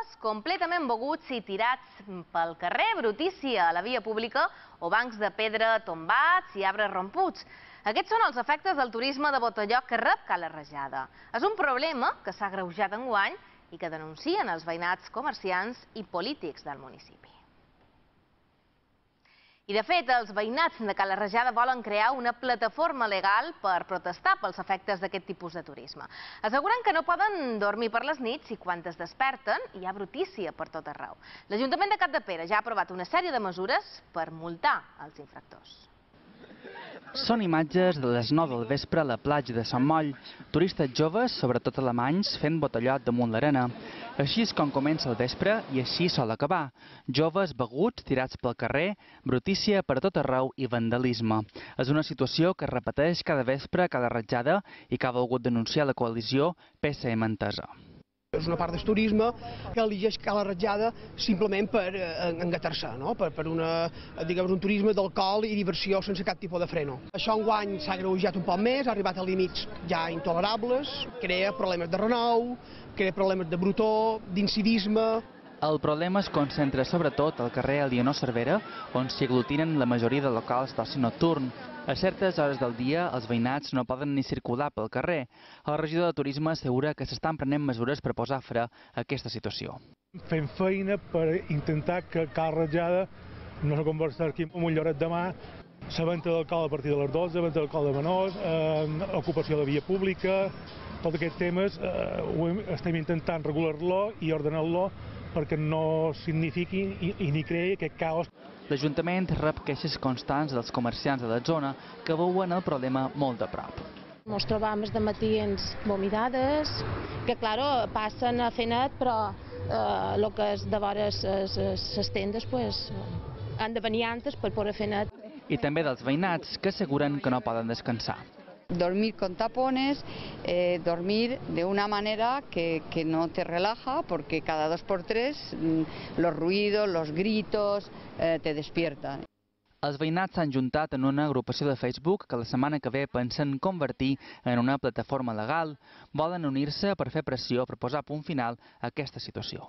joves completament beguts i tirats pel carrer, brutícia a la via pública o bancs de pedra tombats i arbres romputs. Aquests són els efectes del turisme de botelló que rep Cala Rajada. És un problema que s'ha agreujat enguany i que denuncien els veïnats, comerciants i polítics del municipi. I de fet, els veïnats de Cala Rajada volen crear una plataforma legal per protestar pels efectes d'aquest tipus de turisme. Asseguren que no poden dormir per les nits i quan es desperten hi ha brutícia per tot arreu. L'Ajuntament de Capdepera ja ha aprovat una sèrie de mesures per multar els infractors. Són imatges de les 9 del vespre a la platja de Sant Moll. Turistes joves, sobretot alemanys, fent botellot damunt l'arena. Així és com comença el vespre i així sol acabar. Joves beguts, tirats pel carrer, brutícia per tot arreu i vandalisme. És una situació que es repeteix cada vespre a Cala Rajada i que ha volgut denunciar la coalició PSM Entesa. És una part del turisme que elegeix Cala Rajada simplement per engatar-se, per un turisme d'alcohol i diversió sense cap tipus de freno. Això enguany s'ha agreujat un poc més, ha arribat a límits ja intolerables, crea problemes de renou, crea problemes de brutó, d'incivisme. El problema es concentra sobretot al carrer Elionor Cervera, on s'hi aglutinen la majoria de locals d'oci nocturn. A certes hores del dia, els veïnats no poden ni circular pel carrer. El regidor de Turisme assegura que s'estan prenent mesures per posar fre a aquesta situació. Fem feina per intentar que Cala Rajada no se converteixi aquí en un lloret de mà. La venda d'alcohol a partir de les 12, venda d'alcohol de menors, ocupació de via pública, tots aquests temes estem intentant regular-lo i ordenar-lo perquè no signifiqui i ni creï aquest caos. L'Ajuntament rep queixes constants dels comerciants de la zona que veuen el problema molt de prop. Ens trobam de matins vomitades, que claro, passen a fer net, però el que és de vora les tendes han de venir antes per poder fer net. I també dels veïnats que asseguren que no poden descansar. Dormir con tapones, dormir de una manera que no te relaja, porque cada 2 por 3 los ruidos, los gritos te despiertan. Els veïnats s'han juntat en una agrupació de Facebook que la setmana que ve pensen convertir en una plataforma legal. Volen unir-se per fer pressió per posar punt final a aquesta situació.